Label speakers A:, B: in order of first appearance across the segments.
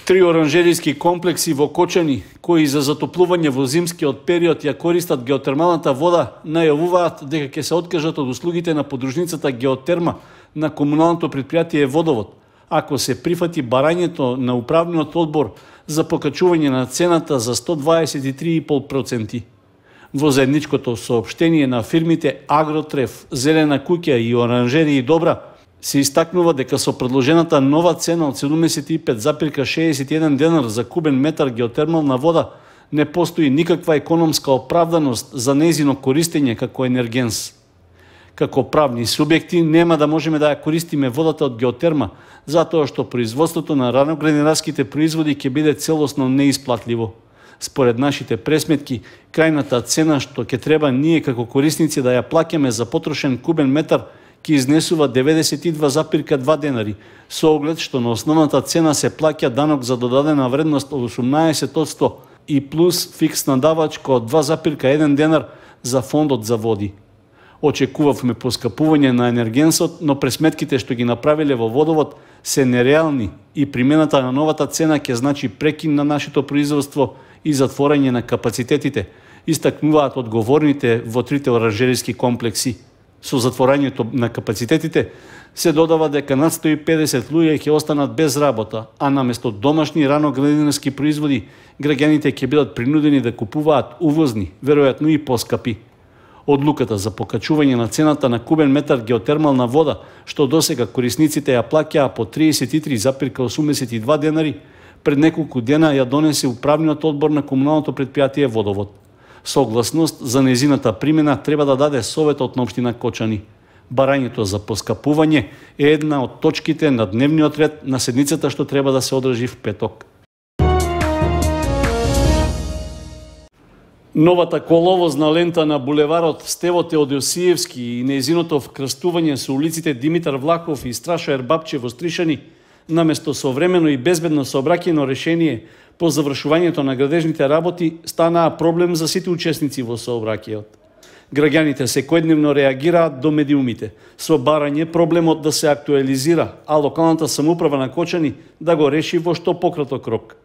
A: 3 оранжериски комплекси во Кочани, кои за затоплување во зимскиот период ја користат геотермалната вода, најавуваат дека ќе се откажат од услугите на подружницата Геотерма на комуналното предпријатие Водовод, ако се прифати барањето на управниот одбор за покачување на цената за 123,5%. Во заедничкото соопштение на фирмите Агротреф, Зелена куќа и Оранжерии Добра се истакнува дека со предложената нова цена од 75,61 денар за кубен метар геотермална вода не постои никаква економска оправданост за нејзино користење како енергенс. Како правни субјекти нема да можеме да ја користиме водата од геотерма, затоа што производството на раноградинарските производи ќе биде целосно неисплатливо. Според нашите пресметки, крајната цена што ќе треба ние како корисници да ја плаќаме за потрошен кубен метар ќе изнесува 92,2 денари, со оглед што на основната цена се плаќа данок за додадена вредност од 18% и плюс фиксна давачка од 2,1 денар за фондот за води. Очекувавме поскапување на енергенсот, но пресметките што ги направиле во Водовод се нереални и примената на новата цена ќе значи прекин на нашето производство и затворање на капацитетите, истакнуваат одговорните во 3 оранжериски комплекси. Со затворањето на капацитетите се додава дека над 150 луѓе ќе останат без работа, а наместо домашни раноградинарски производи, граѓаните ќе бидат принудени да купуваат увозни, веројатно и поскапи. Одлуката за покачување на цената на кубен метар геотермална вода, што досега корисниците ја плаќаа по 33,82 денари, пред неколку дена ја донесе управниот одбор на комуналното предпријатие Водовод. Согласност за нејзината примена треба да даде Советот на општина Кочани. Барањето за поскапување е една од точките на дневниот ред на седницата што треба да се одржи в петок. Новата коловозна лента на булеварот Стево Теодосиевски и нејзиното вкрстување со улиците Димитар Влахов и Страшо Ербапче во Стришани, наместо современо и безбедно сообраќајно решение по завршувањето на градежните работи, станаа проблем за сите учесници во сообраќајот. Граѓаните секојдневно реагираат до медиумите, со барање проблемот да се актуализира, а локалната самоуправа на Кочани да го реши во што пократок рок.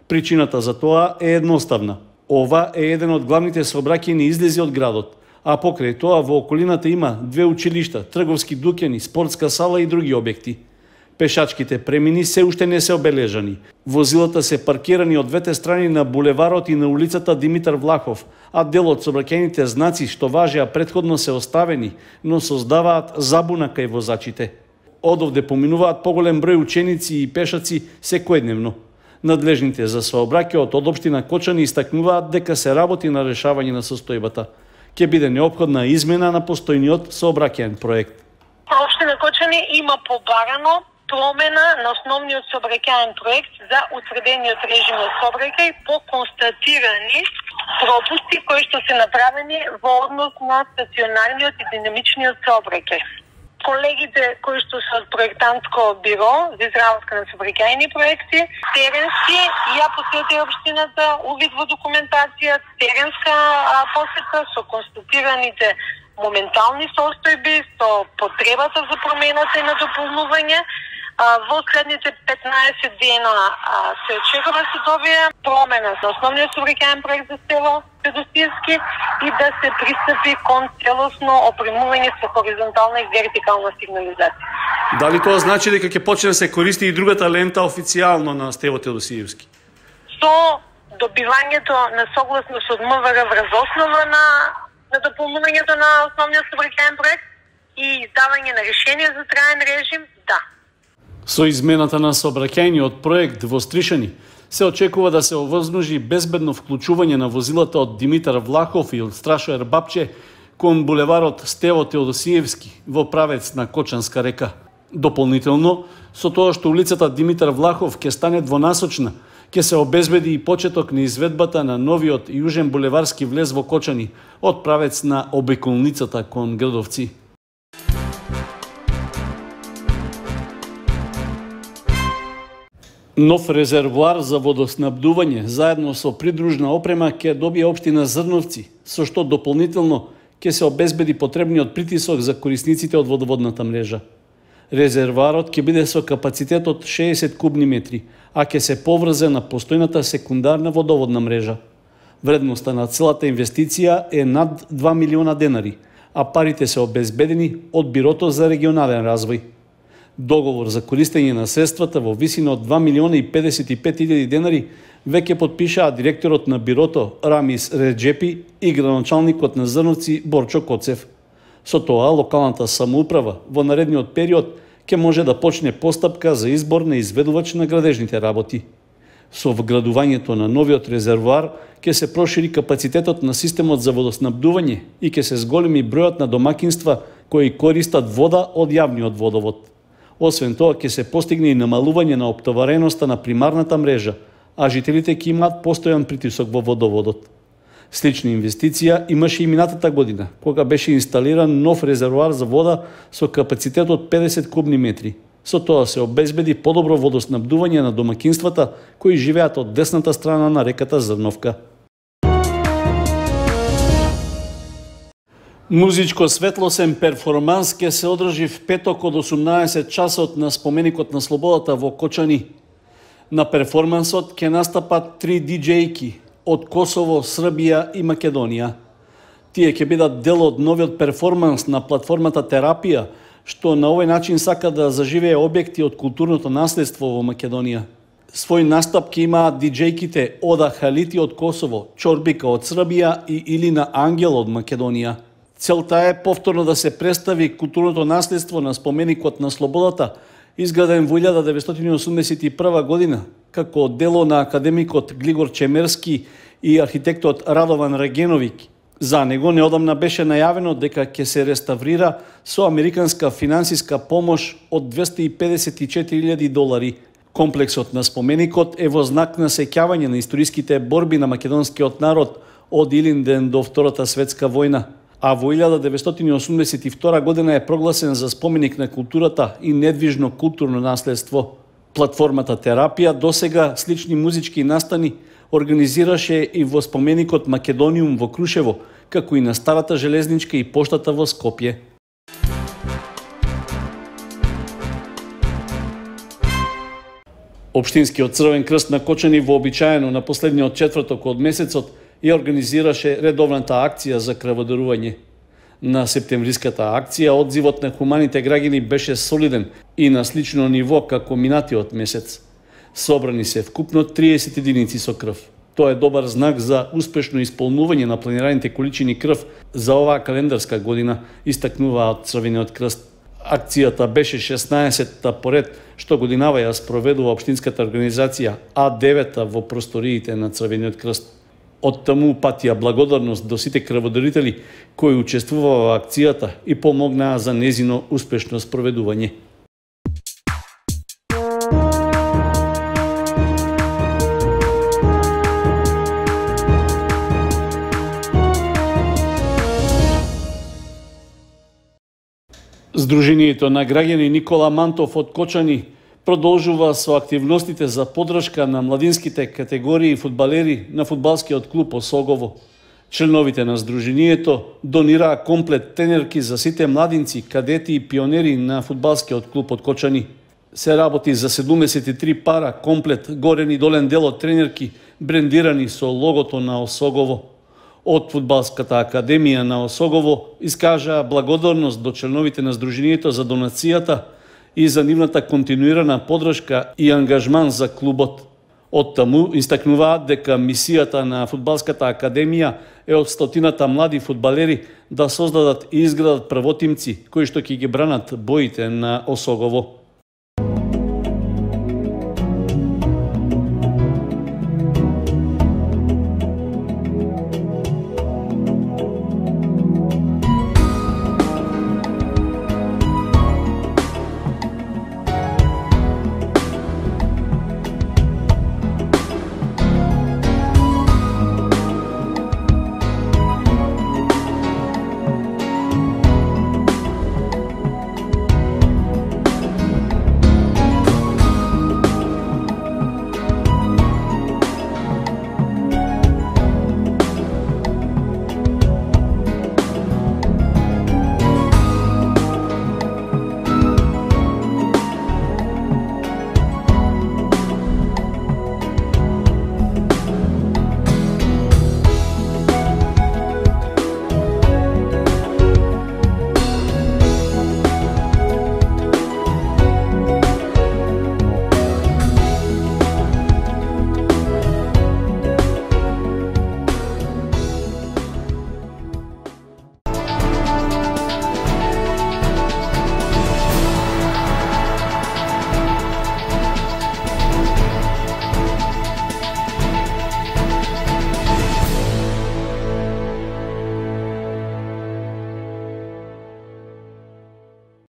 A: Причината за тоа е едноставна. Ова е еден од главните сообраќајни излези од градот, а покрај тоа во околината има 2 училишта, трговски дуќани, спортска сала и други објекти. Пешачките премини се уште не се обележани. Возилата се паркирани од двете страни на булеварот и на улицата Димитар Влахов, а дел од сообраќајните знаци што важеа претходно се оставени, но создаваат забуна кај возачите. Одовде поминуваат поголем број ученици и пешаци секојдневно. Надлежните за сообраќајот од општина Кочани истакнуваат дека се работи на решавање на состојбата. Ќе биде неопходна измена на постојниот сообраќајен проект.
B: Општина Кочани има побарано промена на основниот сообраќајен проект за утврдениот режим на сообраќај по констатирани пропусти кои што се направени во однос на стационарниот и динамичниот сообраќај. Колегите кои што се од проектантско биро за изработка на сообраќајни проекти, теренски ја посетија општината, увид во документација, теренска посета со констатираните моментални состојби, со потребата за промената и на дополнување. Во следните 15 дена се очекува да се добие промена на основниот сообраќајен проект за село Теодосиевски и да се пристапи кон целосно опремување со хоризонтална и вертикална сигнализација.
A: Дали тоа значи дека ќе почне да се користи и другата лента официјално на Стево Теодосиевски?
B: Со добивањето на согласност од МВР врз основа на дополнувањето на основниот сообраќајен проект и издавање на решение за траен режим, да.
A: Со измената на сообраќајниот проект во Стришани се очекува да се овозможи безбедно вклучување на возилата од Димитар Влахов и од Страшо Ербапче кон булеварот Стево Теодосиевски во правец на Кочанска река. Дополнително, со тоа што улицата Димитар Влахов ќе стане двонасочна, ќе се обезбеди и почеток на изведбата на новиот јужен булеварски влез во Кочани од правец на обиколницата кон Градовци. Нов резервоар за водоснабдување заедно со придружна опрема ќе добие општина Зрновци, со што дополнително ќе се обезбеди потребниот притисок за корисниците од водоводната мрежа. Резервоарот ќе биде со капацитет од 60 кубни метри, а ќе се поврзе на постојната секундарна водоводна мрежа. Вредноста на целата инвестиција е над 2 милиона денари, а парите се обезбедени од Бирото за регионален развој. Договор за користење на средствата во висина од 2 милиона и 55 илјади денари веќе потпишаа директорот на Бирото Рамис Реджепи и градоначалникот на Зрновци Борчо Коцев. Со тоа, локалната самоуправа во наредниот период ќе може да почне постапка за избор на изведувач на градежните работи. Со вградувањето на новиот резервоар ќе се прошири капацитетот на системот за водоснабдување и ќе се зголеми бројот на домакинства кои користат вода од јавниот водовод. Освен тоа, ќе се постигне и намалување на оптовареноста на примарната мрежа, а жителите ќе имаат постојан притисок во водоводот. Слична инвестиција имаше и минатата година, кога беше инсталиран нов резервоар за вода со капацитет од 50 кубни метри. Со тоа се обезбеди подобро водоснабдување на домакинствата кои живеат од десната страна на реката Зрновка. Музичко светлосен перформанс ќе се одржи в петок од 18 часот на споменикот на слободата во Кочани. На перформансот ќе настапат 3 диџејки од Косово, Србија и Македонија. Тие ќе бидат дел од новиот перформанс на платформата Терапија, што на овој начин сака да заживее објекти од културното наследство во Македонија. Свој настап ќе имаат диџејките Ода Халити од Косово, Чорбика од Србија и Илина Ангел од Македонија. Целта е повторно да се представи културното наследство на споменикот на слободата, изграден во 1981 година, како дело на академикот Глигор Чемерски и архитектот Радован Регеновик. За него неодамна беше најавено дека ќе се реставрира со американска финансиска помош од $254,000. Комплексот на споменикот е во знак на сеќавање на историските борби на македонскиот народ од Илинден до Втората светска војна, а во 1982 година е прогласен за споменик на културата и недвижно културно наследство. Платформата Терапија досега слични музички настани организираше и во споменикот Македониум во Крушево, како и на Старата железничка и поштата во Скопје. Општинскиот Црвен крст на Кочани вообичаено на последниот четврток од месецот ја организираше редовната акција за крводарување. На септемвриската акција одзивот на хуманите граѓани беше солиден и на слично ниво како минатиот месец. Собрани се вкупно 30 единици со крв. Тоа е добар знак за успешно исполнување на планираните количини крв за оваа календарска година, истакнуваат Црвениот крст. Акцијата беше 16-та поред што годинава ја спроведува општинската организација, а 9-та во просториите на Црвениот крст. Од таму патија благодарност до сите крводарители кои учествуваа во акцијата и помогнаа за незино успешно спроведување. Сдруженијето на граѓани Никола Мантов од Кочани продолжува со активностите за поддршка на младинските категории фудбалери на фудбалскиот клуб Осогово. Членовите на Сдруженијето донираа комплет тренерки за сите младинци, кадети и пионери на фудбалскиот клуб од Кочани. Се работи за 73 пара комплет горен и долен дел од тренерки, брендирани со логото на Осогово. Од Фудбалската академија на Осогово искажаа благодарност до членовите на Сдруженијето за донацијата и за нивната континуирана поддршка и ангажман за клубот. Од таму истакнуваат дека мисијата на Фудбалската академија е од стотината млади фудбалери да создадат и изградат правотимци кои што ќе ги бранат боите на Осогово.